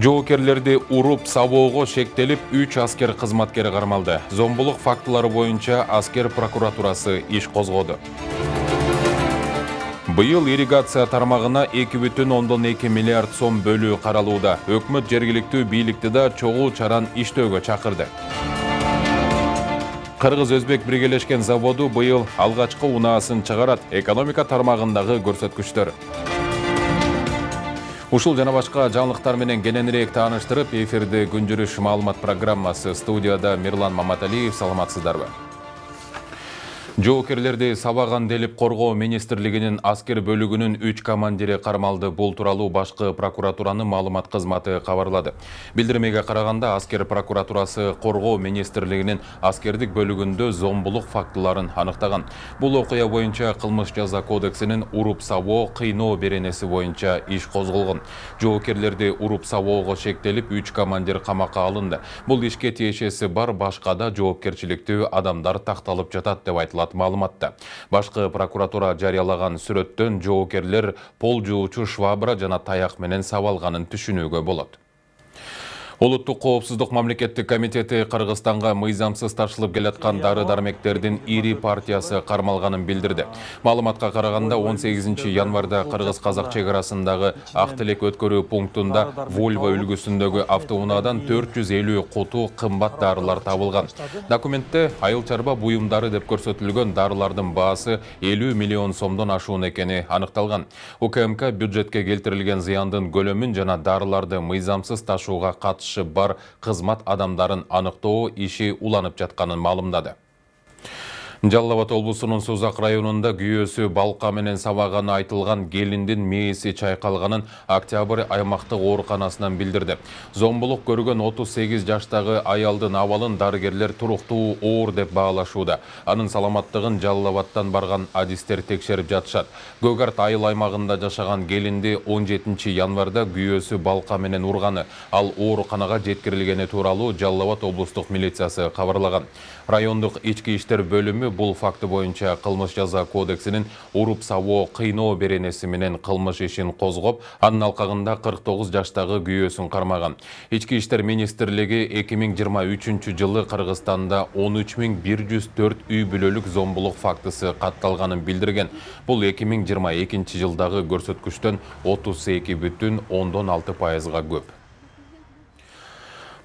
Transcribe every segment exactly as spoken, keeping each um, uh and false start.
Жоокерлерди уруп сабоого шектелип үч аскер кызматкери кармалды. Зомбулук фактылары боюнча аскер прокуратурасы иш козгоду. Быйыл ирригация тармагына эки бүтүн ондон эки миллиард сом бөлүү каралууда. Өкмөт жергиликтүү бийликти да чогуу чаран иштөөгө чакырды. Кыргыз-Өзбек биргелешкен заводу быйыл алгачкы унаасын чыгарат. Экономика тармагындагы көрсөткүчтөр. Ушул жана башка жаңылыктар менен кененирээк тааныштырып, эфирде күн жүрүш маалымат программасы. Студияда Мирлан Маматалиев. Саламатсыздарбы? Жоокерлерди сабаган делип коргоо министрлигинин аскер бөлүгүнүн үч командири кармалды. Бул тууралуу башкы прокуратуранын маалымат кызматы кабарлады. Билдирмеге караганда, аскер прокуратурасы коргоо министрлигинин аскердик бөлүгүндө зомбулук фактыларын аныктаган. Бул окуя боюнча кылмыш жаза кодексинин уруп сабоо, кыйноо беренеси боюнча иш козголгон. Жоокерлерди уруп сабоого шектелип үч командир камакка алынды. Бул ишке тиешеси бар башка да жоопкерчиликтүү адамдар такталып жатат деп айтылат маалыматта. Башкы прокуратура жарыялаган сүрөттөн жоокерлер пол жуучу швабра жана таяк менен сабалганын түшүнүүгө болот. Улуттук коопсуздук мамлекеттик комитети Кыргызстанга мыйзамсыз ташылып келаткан дары-дармектердин ири партиясы кармалганын билдирди. Маалыматка караганда, он сегизинчи январда Кыргыз-Казак чек арасындагы Ак Тилек өткөрүү пунктунда Volvo үлгүсүндөгү автоунаадан төрт жүз элүү куту кымбат дарылар табылган. Документте айыл чарба буюмдары деп көрсөтүлгөн дарылардын баасы элүү миллион сомдон ашуун экени аныкталган. УКМК бюджетке келтирилген зыяндын көлөмүн жана дарыларды мыйзамсыз ташууга катышы бар кызмат адамдарын аныктоо иши уланып жатканын маалымдады. Жалал Абад облусунун Сузак районунда күйөөсү балка менен сабаганы айтылган келиндин мээси чайкалганын Октябрь аймактык ооруканасынан билдирди. Зомбулук көргөн отуз сегиз жаштагы аялдын абалын дарыгерлер туруктуу оор деп баалашууда. Анын саламаттыгын Жалал Абадтан барган адистер текшерип жатышат. Көгарт айыл аймагында жашаган келинди он жетинчи январда күйөөсү балка менен урганы, ал ооруканага жеткирилгени тууралуу Жалал Абад облустук милициясы кабарлаган. Райондук ички иштер бөлүмү бул факты боюнча кылмыш жаза кодексинин уруп сабоо, кыйноо беренеси менен кылмыш ишин козгоп, анын алкагында кырк тогуз жаштагы күйөөсүн кармаган. Ички иштер министрлиги эки миң жыйырма үчүнчү жылы Кыргызстанда он үч миң бир жүз төрт үй бүлөлүк зомбулук фактысы катталганын билдирген. Бул эки миң жыйырма экинчи жылдагы көрсөткүчтөн отуз эки бүтүн ондон алты пайызга көп.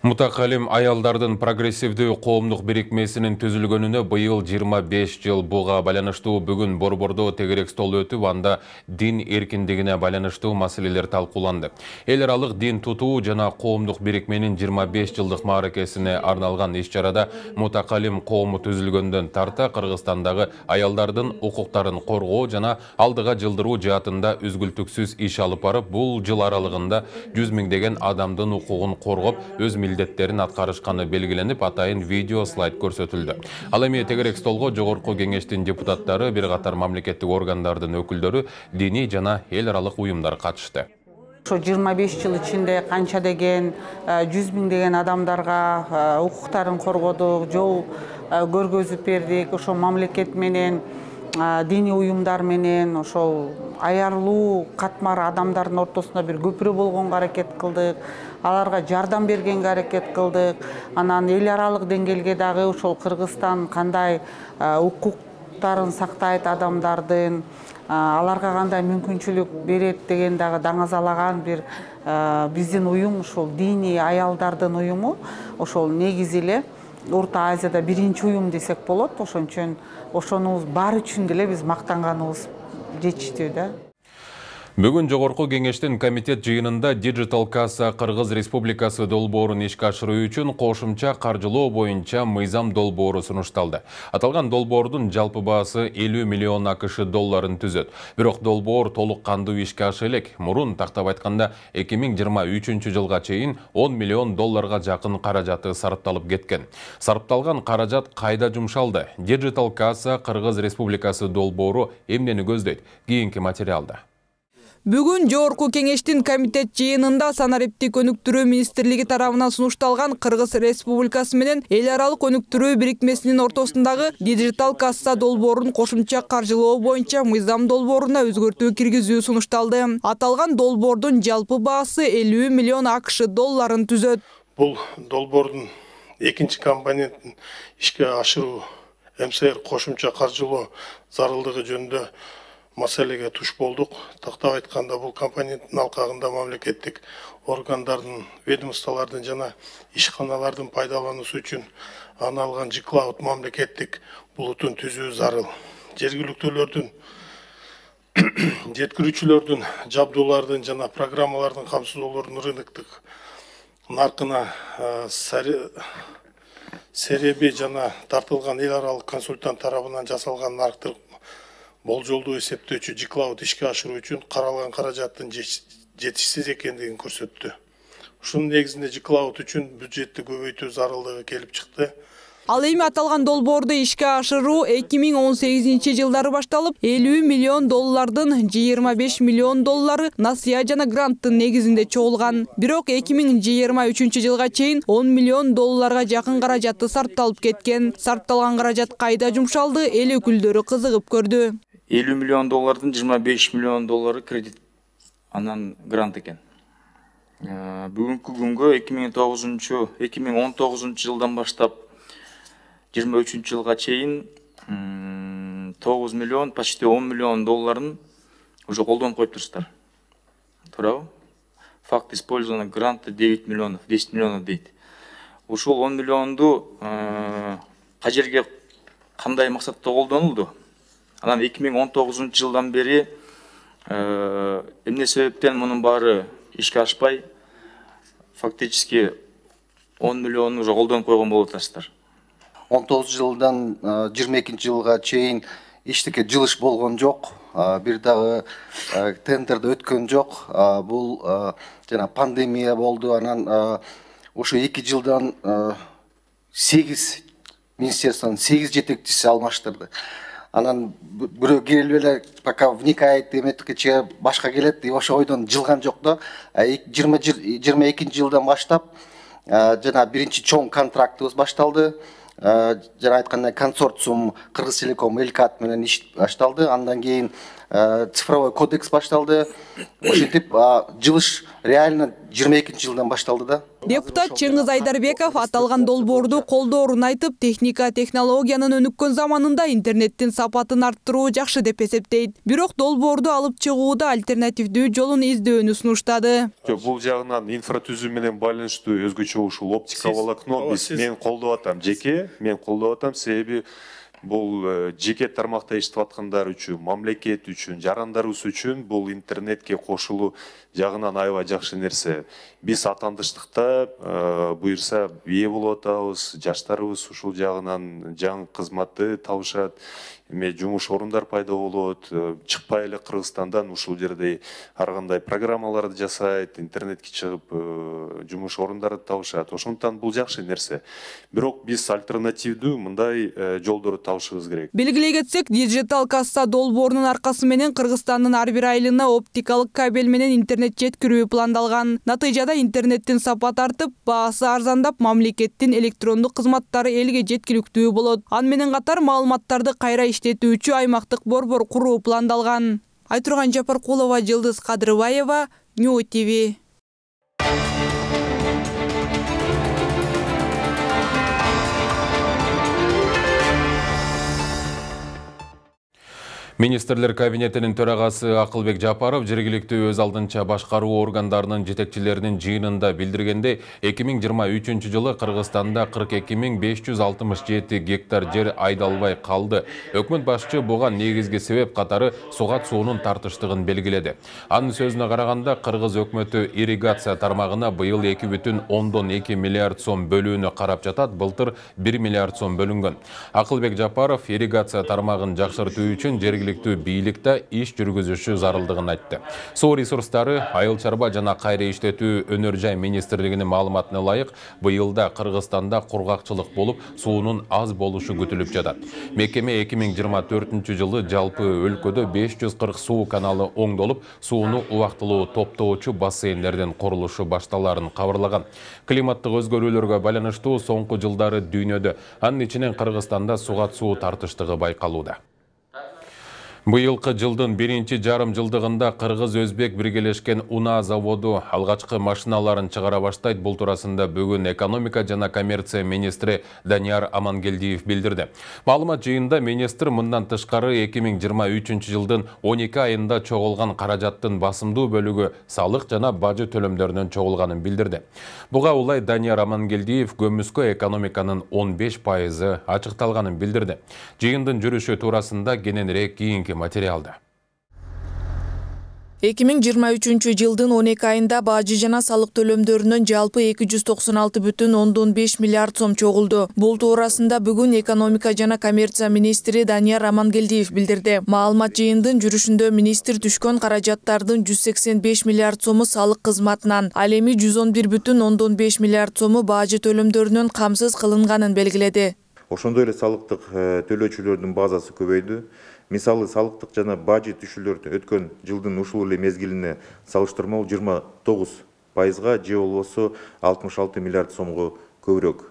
Мутакалим аялдардын прогрессивдүү коомдук бирикмесинин түзүлгөнүнө быйыл жыйырма беш жыл. Буга байланыштуу бүгүн Борбордо тегерек стол өтүп, анда дин эркиндигине байланыштуу маселелер талкууланды. Эл аралык дин тутуу жана коомдук бирикменин жыйырма беш жылдык мааракесине арналган иш-чарада мутакалим коому түзүлгөндөн тарта Кыргызстандагы аялдардын укуктарын коргоо жана алдыга жылдыруу жаатында үзгүлтүксүз иш алып барып, бул жыл аралыгында жүз миңдеген адамдын укугун коргоп, өз милдеттерин аткарышканы белгиленип, атайын видео слайд көрсөтүлдү. Ал эми тегерек столго жогорку кеңештин депутаттары, бир катар мамлекеттик органдардын өкүлдөрү, диний жана эл аралык уюмдар катышты. Ошо жыйырма беш жыл ичинде канча деген жүз миңдеген адамдарга укуктарын коргодук, жол көргөзүп бердик. Ошо мамлекет менен, диний уюмдар менен, ошол аярлуу катмар адамдардын ортосунда бир көпүрө болгонго аракет кылдык. Аларга жардам бергенге аракет кылдык. Анан эл аралык деңгээлге дагы ошол Кыргызстан кандай укуктарын сактайт адамдардын, аларга кандай мүмкүнчүлүк берет деген дагы даңазалаган бир биздин уюм, ошол диний аялдардын уюму. Ошол негизи эле Орто Азияда биринчи уюм десек болот. Ошон ошонубуз баары үчүн деле биз мактанганыбыз жетиштүү да. Бүгүн жогорку кеңештин комитет жыйынында Digital Kassa Кыргыз Республикасы долбоорун ишке ашыруу үчүн кошумча каржылоо боюнча мыйзам долбоору сунушталды. Аталган долбоордун жалпы баасы элүү миллион акш долларын түзөт. Бирок долбоор толук кандуу ишке аша элек. Мурун тактап айтканда эки миң жыйырма үчүнчү жылга чейин он миллион долларга жакын каражаты сарпталып кеткен. Сарпталган каражат кайда жумшалды? Digital Kassa Кыргыз Республикасы долбоору эмнени көздөйт? Кийинки материалда. Бүгүн Жогорку кеңештин комитет жыйынында санариптик өнүктүрүү министрлиги тарабынан сунушталган Кыргыз Республикасы менен эл аралык өнүктүрүү бирикмесинин ортосундагы дижитал касса долбоорун кошумча каржылоо боюнча мыйзам долбооруна өзгөртүү киргизүү сунушталды. Аталган долбоордун жалпы баасы элүү миллион АКШ долларын түзөт. Бул долбоордун экинчи компонентин ишке ашыруу МСР кошумча каржылоо зарылдыгы жөнүндө маселеге туш болдук. Тактап айтканда, бул компоненттин алкагында мамлекеттик органдардын, ведомстволордун жана ишканалардын пайдалануусу үчүн аны алган жиклауд мамлекеттик булутун түзүү зарыл. Жергиликтүүлөрдүн, жеткирүүчүлөрдүн, жабдуулардын жана программалардын камсыздоолордун рыноктук наркына сереби жана тартылган эл аралык консультант тарабынан жасалган нарктык болжолдуу эсептөөчү жиклауд ишке ашыруу үчүн каралган каражаттын жетишсиз экендигин көрсөттү. Ушунун негизинде жиклауд үчүн бюджетти көбөйтүү зарылдыгы келип чыкты. Ал эми аталган долбоорду ишке ашыруу эки миң он сегизинчи жылдары башталып, элүү миллион доллардын жыйырма беш миллион доллары насыя жана гранттын негизинде чогулган. Бирок эки миң жыйырма үчүнчү жылга чейин он миллион долларга жакын каражаты сарпталып кеткен. Сарпталган каражат кайда жумшалды, эл өкүлдөрү кызыгып көрдү. элүү миллион доллардын жыйырма беш миллион доллары кредит, анан грант экен. Бүгүнкү күнгө эки миң тогузунчу эки миң он тогузунчу жылдан баштап жыйырма үчүнчү жылга чейин тогуз миллион, почти он миллион долларын уже колдонуп коюптурсуздар. Туурабы? Факт использования гранта девять миллионов, десять миллионов дейт. Ушул он миллионду кажерге кандай максатта колдонулду? Анан эки миң он тогузунчу жылдан бери эмне себептен мунун баары ишке ашпай, фактически он миллион уже колдонуп койгон болуп атасыздар. он тогузунчу жылдан жыйырма экинчи жылга чейин эчтеке жылыш болгон жок. Бир дагы тендерде өткөн жок. Бул жана пандемия болду. Анан ошо эки жылдан сегиз министерствонун сегиз жетекчиси алмаштырды. Анан бирөө келип эле пока вникает эметкече башка келет деп ошо ойдон жылган жок да. жыйырма экинчи жылдан баштап жана биринчи чоң контрактыбыз башталды. Жана айткандай консорциум Кыргызтелеком Элкат менен иш башталды. Андан кийин цифровой кодекс башталды. Ошентип жылыш реально жыйырма экинчи жылдан башталды да. Депутат Чыңгыз Айдарбеков аталган долбоорду колдоорун айтып, техника технологиянын өнүккөн заманында интернеттин сапатын арттыруу жакшы деп эсептейт. Бирок долбоорду алып чыгууда альтернативдүү жолун издөөнү сунуштады. Бул жагынан инфратүзүм менен байланыштуу өзгөчө ушул оптика волокно биз мен колдоп атам, жеке мен колдоп атам, себеби бул жеке тармакта иштеп аткандар үчүн, мамлекет үчүн, жарандарыбыз үчүн бул интернетке кошулуу жагынан аябай жакшы нерсе. Биз атандыштыкта буюрса ээ болуп атабыз, жаштарыбыз ушул жагынан жаңы кызматты табышат, эме жумуш орундар пайда болот, чыкпай эле Кыргызстандан ушул жерде ар кандай программаларды жасайт, интернетке чыгып жумуш орундарды табышат. Ошондуктан бул жакшы нерсе. Бирок биз альтернативдүү мындай жолдорду табышыбыз керек. Белгилей кетсек, дижитал касса долбоорунун аркасы менен Кыргызстандын ар бир айылына оптикалык кабель менен интернет жеткирүү пландалган. Натыйжада интернеттин сапаты артып, баасы арзандап, мамлекеттин электрондук кызматтары элге жеткиликтүү болот. Ан менен катар маалыматтарды кайра иштетүүчү аймактык борбор куруу пландалган. Айтурган Жапаркулова, Жылдыз Кадырбаева, Нью ТВ. Министрлер кабинетинин төрагасы Акылбек Жапаров жергиликтүү өз алдынча башкаруу органдарынын жетекчилеринин жыйынында билдиргенде, эки миң жыйырма үчүнчү жылы Кыргызстанда кырк эки миң беш жүз алтымыш жети гектар жер айдалбай калды. Өкмөт башчы буга негизги себеп катары сугат суунун тартыштыгын белгиледи. Анын сөзүнө караганда, Кыргыз өкмөтү ирригация тармагына быйыл эки бүтүн ондон эки миллиард сом бөлүүнү карап жатат, былтыр бир миллиард сом бөлүнгөн. Акылбек Жапаров ирригация тармагын жакшыртуу үчүн жергиликтүү жергиликтүү бийлик да иш жүргүзүшү зарылдыгын айтты. Суу ресурстары, айыл чарба жана кайра иштетүү өнөр жай министрлигинин маалыматына ылайык, быйылда Кыргызстанда кургакчылык болуп, суунун аз болушу күтүлүп жатат. Мекеме эки миң жыйырма төртүнчү жылы жалпы өлкөдө беш жүз кырк суу каналы оңдолуп, сууну убактылуу топтоочу бассейндердин курулушу башталарын кабарлаган. Климаттык өзгөрүүлөргө байланыштуу соңку жылдары дүйнөдө, анын ичинен Кыргызстанда сугат суу тартыштыгы байкалууда. Быйылкы жылдын биринчи жарым жылдыгында Кыргыз-Өзбек биргелешкен унаа заводу алгачкы машиналарын чыгара баштайт. Бул туурасында бүгүн экономика жана коммерция министри Данияр Амангелдиев билдирди. Маалымат жыйынында министр мындан тышкары эки миң жыйырма үчүнчү жылдын он эки айында чогулган каражаттын басымдуу бөлүгү салык жана бажы төлөмдөрүнөн чогулганын билдирди. Буга улай Данияр Амангелдиев көмүскө экономиканын он беш пайызы ачыкталганын билдирди. Жыйындын жүрүшү туурасында кененирээк кийинки материалда. эки миң жыйырма үчүнчү жылдын он эки айында бажы жана салык төлөмдөрүнөн жалпы эки жүз токсон алты бүтүн ондон беш миллиард сом чогулду. Бул туурасында бүгүн экономика жана коммерция министри Данияр Амангелдиев билдирди. Маалымат жыйындын жүрүшүндө министр түшкөн каражаттардын жүз сексен беш миллиард сому салык кызматынан, ал эми жүз он бир бүтүн ондон беш миллиард сому бажы төлөмдөрүнөн камсыз кылынганын белгиледи. Ошондой эле салыктык төлөөчүлөрдүн базасы көбөйдү. Мисалы, салыктык жана бажы түшүүлөр өткөн жылдын ушул эле мезгилине салыштырмалуу жыйырма тогуз пайызга же болбосо алтымыш алты миллиард сомго көбүрөөк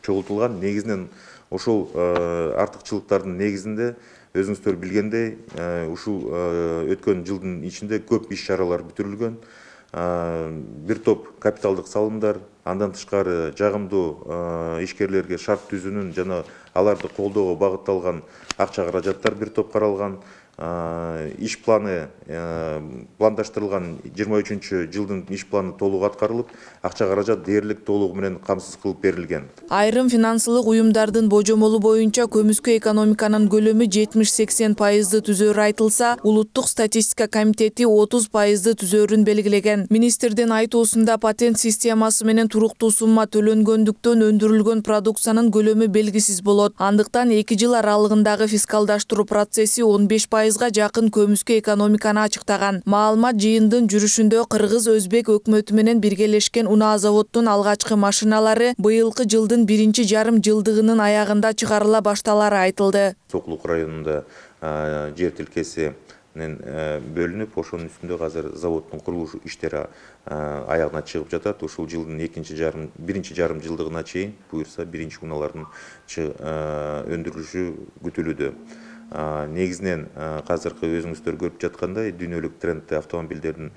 чогултулган. Негизинен ошол артыкчылыктардын негизинде өзүңүздөр билгендей, ушул өткөн жылдын ичинде көп иш чаралар бүтүрүлгөн. Бир топ капиталдык салымдар, андан тышкары жагымдуу ишкерлерге шарт түзүүнүн жана аларды колдоого багытталган акча каражаттар бир топ каралган. Иш планы пландаштырылган жыйырма үчүнчү жылдын иш планы толук аткарылып, акча каражат дээрлик толугу менен камсыз кылып берилген. Айрым финансылык уюмдардын божомолу боюнча көмүскө экономиканын көлөмү жетимиш сексен пайызды түзөөрү айтылса, улуттук статистика комитети отуз пайызды түзөөрүн белгилеген. Министрдин айтуусунда патент системасы менен туруктуу сумма төлөнгөндүктөн өндүрүлгөн продукциянын көлөмү белгисиз болот. Андыктан эки жыл аралыгындагы фискалдаштыруу процесси он беш пайызга жакын көмүскө экономиканы ачыктаган. Маалымат жыйындын жүрүшүндө Кыргыз-Өзбек өкмөтү менен биргелешкен унаа заводдун алгачкы машиналары быйылкы жылдын биринчи жарым жылдыгынын аягында чыгарыла башталары айтылды. Сокулук районунда жер тилкеси бөлүнүп, ошонун үстүндө азыр заводдун курулуш иштери аягына чыгып жатат. Ушул жылдын экинчи жарым, биринчи жарым жылдыгына чейин буюрса биринчи унаалардын өндүрүлүшү күтүлүүдө. Негизинен казыркы өзүңүздөр көрүп жаткандай дүйнөлүк трендте автомобилдердин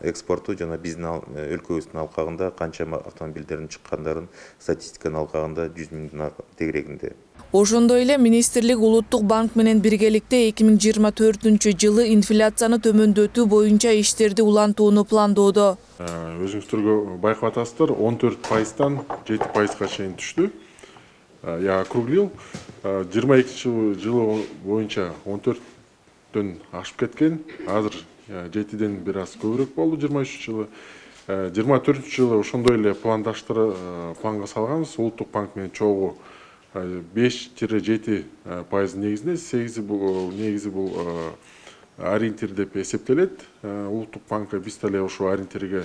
экспорту жана биздин өлкөбүздүн алкагында канча автомобилдердин чыккандарын статистиканын алкагында жүз миңдин тегерегинде. Ошондой эле министрлик Улуттук банк менен биргеликте эки миң жыйырма төртүнчү жылы инфляцияны төмөндөтүү боюнча иштерди улантууну пландоодо. Өзүңүздөргө байкап атасыздар, он төрт пайыздан жети пайызга чейин түштү. Я округлил. жыйырма экинчи жылы боюнча он төрттөн ашып кеткен. Азыр жетиден бир аз көбүрөөк болду жыйырма үчүнчү жылы. жыйырма төртүнчү жылы ошондой эле пландаштырып планга салганбыз. Улуттук банк менен чогуу беш жети пайыз негизинде, сегизи бул негизи бул ориентир деп эсептелет. Улуттук банкка биз деле ошол ориентирге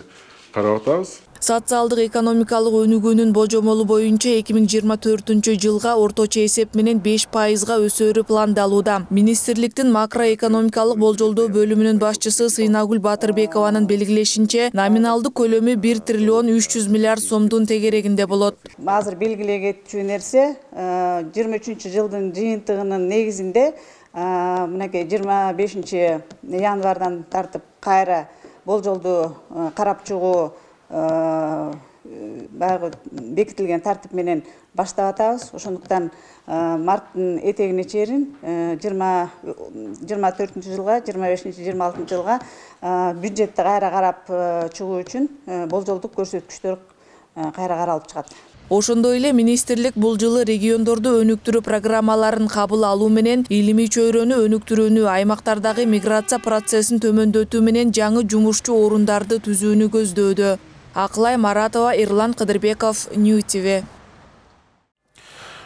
карап атабыз. Социалдык экономикалык өнүгүүнүн божомолу боюнча эки миң жыйырма төртүнчү жылга орточо эсеп менен беш пайызга өсөөрү пландалууда. Министрликтин макроэкономикалык болжолдоо бөлүмүнүн башчысы Сыйнагүл Батырбекованын белгилешинче, номиналдык көлөмү бир триллион үч жүз миллиард сомдун тегерегинде болот. Азыр белгилей кетчү нерсе, жыйырма үчүнчү жылдын жыйынтыгынын негизинде мынакей жыйырма бешинчи январдан тартып кайра болжолду карап чыгуу баягы бекитилген тартип менен баштап атабыз. Ошондуктан марттын этегине чейин жыйырма төртүнчү жылга, жыйырма бешинчи жыйырма алтынчы жылга бюджетти кайра карап чыгуу үчүн болжолдук көрсөткүчтөр кайра каралып чыгат. Ошондой эле министрлик бул жылы региондорду өнүктүрүү программаларын кабыл алуу менен илимий чөйрөнү өнүктүрүүнү, аймактардагы миграция процессин төмөндөтүү менен жаңы жумушчу орундарды түзүүнү көздөөдө. Акылай Маратова, Эрлан Кыдырбеков, Нью ти ви.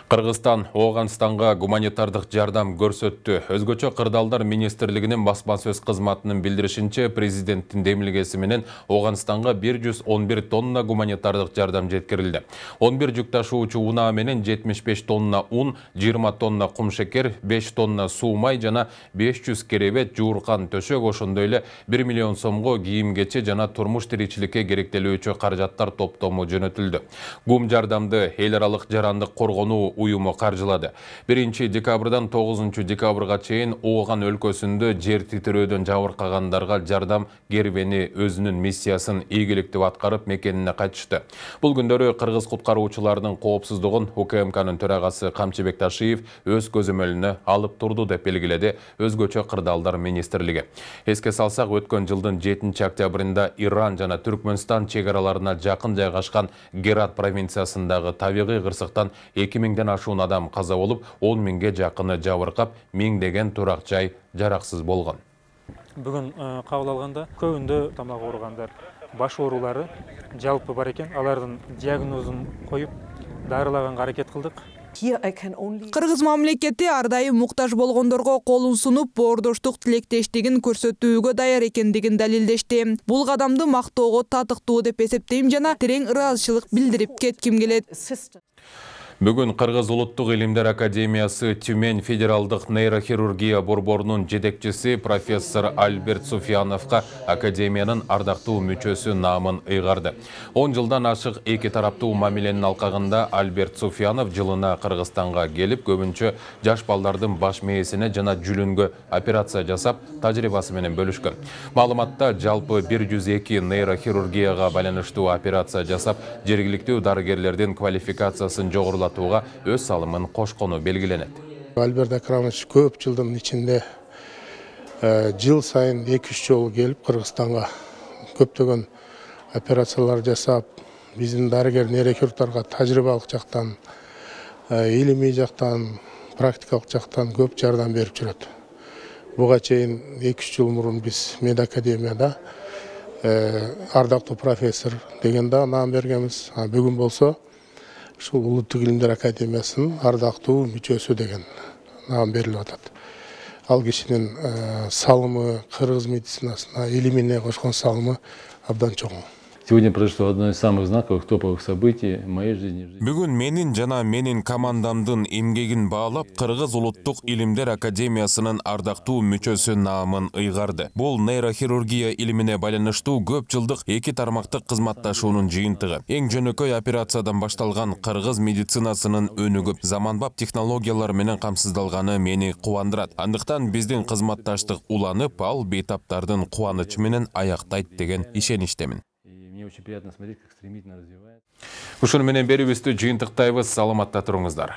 Кыргызстан Ооганстанга гуманитардык жардам көрсөттү. Өзгөчө Кырдаалдар министрлигинин басма-сөз кызматынын билдиришинче, президенттин демилгеси менен Ооганстанга бир жүз он бир тонна гуманитардык жардам жеткирилди. он бир жүк ташуучу унаа менен жетимиш беш тонна ун, жыйырма тонна кум шекер, беш тонна суу май жана беш жүз керебет, жууркан төшөк, ошондой эле бир миллион сомго кийим-кече жана турмуш тиричиликке керектелүүчү каражаттар топтому жөнөтүлдү. Гум жардамды эл аралык жарандык коргонуу уюму каржылады. биринчи декабрдан тогузунчу декабрга чейин Ооган өлкөсүндө жер титирөөдөн жабыркагандарга жардам кербени өзүнүн миссиясын ийгиликтүү аткарып мекенине кайтышты. Бул күндөрү кыргыз куткаруучулардын коопсуздугун У К М К'нын төрагасы Камчыбек Ташиев өз көзөмөлүнө алып турду деп белгиледи Өзгөчө Кырдаалдар министрлиги. Эске салсак, өткөн жылдын жетинчи октябрында Иран жана Түркмөнстан чек араларына жакын жайгашкан Герат провинциясындагы табигый кырсыктан эки миңден ашуун адам каза болуп, он миңге жакыны жабыркап, миңдеген турак жай жараксыз болгон. Бүгүн кабыл алганда көбүндө тамак ооругандар, баш оорулары жалпы бар экен. Алардын диагнозун коюп, дарылаганга аракет кылдык. Кыргыз мамлекети ар дайым муктаж болгондорго колун сунуп, боордоштук тилектештигин көрсөтүүгө даяр экендигин далилдешти. Бул кадамды мактоого татыктуу деп эсептейм жана терең ыраазычылык билдирип кетким келет. Бүгүн Кыргыз Улуттук илимдер академиясы Тюмень федералдык нейрохирургия борборунун жетекчиси профессор Альберт Суфьяновго академиянын ардактуу мүчөсү наамын ыйгарды. он жылдан ашык эки тараптуу мамиленин алкагында Альберт Суфьянов жылына Кыргызстанга келип, көбүнчө жаш балдардын баш мээсине жана жүлүнгө операция жасап, тажрыйбасы менен бөлүшкөн. Маалыматта жалпы бир жүз эки нейрохирургияга байланыштуу операция жасап, жергиликтүү дарыгерлердин квалификациясын жогорулатууга өз салымын кошкону белгиленет. Альберт Акрамович көп жылдын ичинде жыл сайын эки үч жолу келип Кыргызстанга көптөгөн операциялар жасап, биздин дарыгер нейрохирургдарга тажрыйбалык жактан, илимий жактан, практикалык жактан көп жардам берип жүрөт. Буга чейин эки үч жыл мурун биз медакадемияда ардактуу профессор деген да наам бергенбиз. Бүгүн болсо ушул Улуттук илимдер академиясынын ардактуу мүчөсү деген наам берилип атат. Ал кишинин салымы кыргыз медицинасына, илимине кошкон салымы абдан чоң. Сегодня произошло одно из самых знаковых топовых событий в моей жизни. Бүгүн менин жана менин командамдын эмгегин баалап, Кыргыз Улуттук илимдер академиясынын ардактуу мүчөсү наамын ыйгарды. Бул нейрохирургия илимине байланыштуу көп жылдык эки тармактык кызматташуунун жыйынтыгы. Эң жөнөкөй операциядан башталган кыргыз медицинасынын өнүгүп, заманбап технологиялар менен камсыздалганы мени кубандырат. Андыктан биздин кызматташтык уланып, ал бейтаптардын кубанычы менен аяктайт деген ишеничтемин. Мне очень приятно смотреть, как стремительно развивается. Ушуну менен берүүбүздү жыйынтыктайбыз. Саламатта туруңуздар.